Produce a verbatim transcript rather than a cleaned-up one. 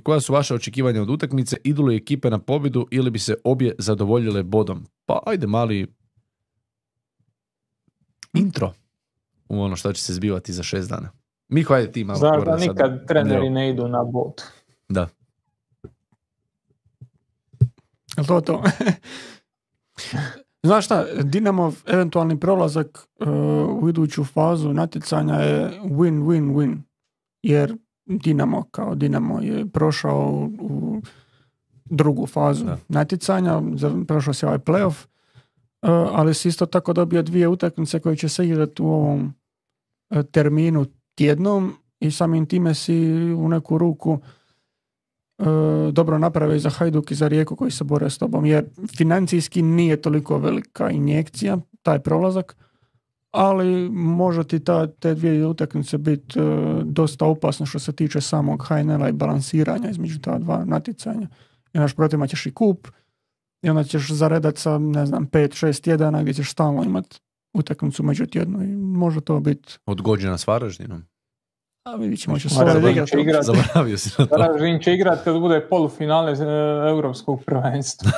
Koja su vaša očekivanja od utakmice? Idu li ekipe na pobjedu ili bi se obje zadovoljile bodom? Pa ajde mali intro u ono što će se zbivati za šest dana. Miho, ajde ti malo. Znaš da nikad sad treneri ne idu na bod. Da. Je to to? Znaš šta, Dinamov eventualni prolazak uh, u iduću fazu natjecanja je win-win-win. Jer Dinamo kao Dinamo je prošao u drugu fazu da. natjecanja, prošao se ovaj playoff, ali si isto tako dobio dvije utakmice koje će se igrati u ovom terminu tjednom i samim time si u neku ruku dobro naprave i za Hajduk i za Rijeku koji se bore s tobom, jer financijski nije toliko velika injekcija taj prolazak, ali može ti ta, te dvije utakmice biti uh, dosta opasno što se tiče samog H N L-a i balansiranja između ta dva natjecanja. I naš protiv imat ćeš i kup i onda ćeš zaredat sa, ne znam, pet šest tjedana gdje ćeš stalno imat utakmicu među tjednu i može to biti... Odgođena s Varaždinom. A vidit ćemo će svoje igrati. Zaboravio si na to. Varaždin će igrati kad bude polufinale europskog prvenstva.